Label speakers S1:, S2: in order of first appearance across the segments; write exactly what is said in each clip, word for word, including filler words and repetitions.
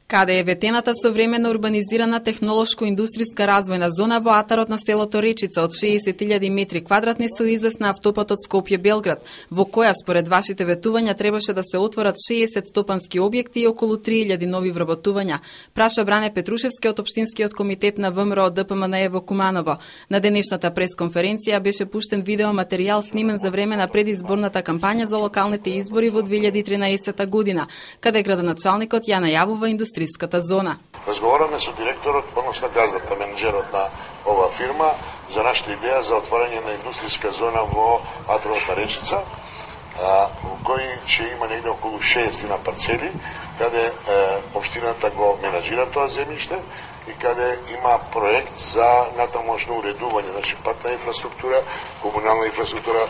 S1: Каде е ветената современа урбанизирана технолошко-индустријска развојна зона во атарот на селото Речица од шеесет илјади метри квадратни со излез на автопатот Скопје-Белград, во која според вашите ветувања требаше да се отворат шеесет стопански објекти и околу три илјади нови вработувања, праша Бране Петрушевски од Општинскиот комитет на ВМРО ДПМНЕ во Куманово. На денешната пресконференција беше пуштен видеоматеријал снимен за време на предизборната кампања за локалните избори во две илјади и тринаесета година, каде градоначалникот ја најавува индустријската зона.
S2: Разговараме со директорот, односно газдата, менеджерот на оваа фирма, за нашата идеја за отворање на индустријска зона во атарот на Речица, во кој ќе има негде околу шеесет парцели, каде општината го менаџира тоа земјиште и каде има проект за натамошно уредување, значи патна инфраструктура, комунална инфраструктура,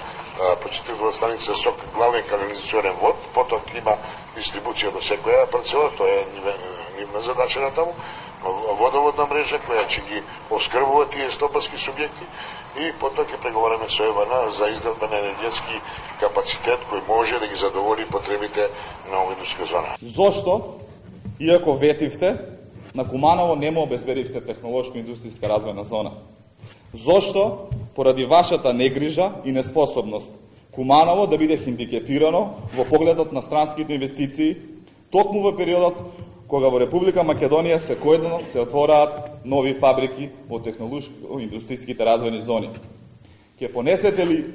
S2: почитувана станица со главен канализационен вод, потоа има дистрибуција до секоја парцела, тоа е нивна задача на таму, водоводна мрежа која ќе ги оскрбува тие стопански субјекти и потоа ќе преговараме со ЕВН за изградба на енергетски капацитет кој може да ги задоволи потребите на оваа индустријска зона.
S3: Зошто, иако ветивте, на Куманово не му обезбедивте технолошко-индустријска развојна зона? Зошто, поради вашата негрижа и неспособност, Куманово да биде хендикепирано во погледот на странските инвестиции, токму во периодот кога во Република Македонија секојдневно се отвораат нови фабрики во технолошко-индустријските развојни зони? Ќе понесете ли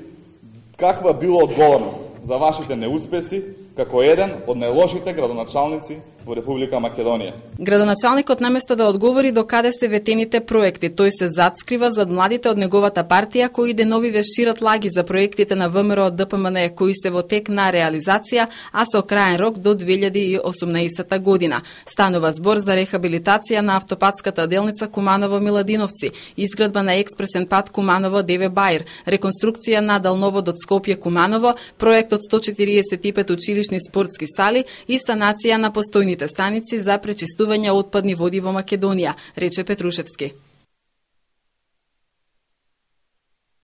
S3: каква било одговорност за вашите неуспеси како еден од најлошите градоначалници во Република Македонија?
S1: Градоначалникот наместо да одговори до каде се ветените проекти, тој се затскрива зад младите од неговата партија кои деновиве шират лаги за проектите на ВМРО ДПМНЕ кои се во тек на реализација, а со краен рок до две илјади и осумнаесета година. Станува збор за рехабилитација на автопатската делница Куманово-Миладиновци, изградба на експресен пат Куманово-Деве Баир, реконструкција на далноводот Скопје-Куманово, проектот сто четириесет и пет училишни спортски сали и санација на постојните станици за пречистување отпадни води во Македонија, рече Петрушевски.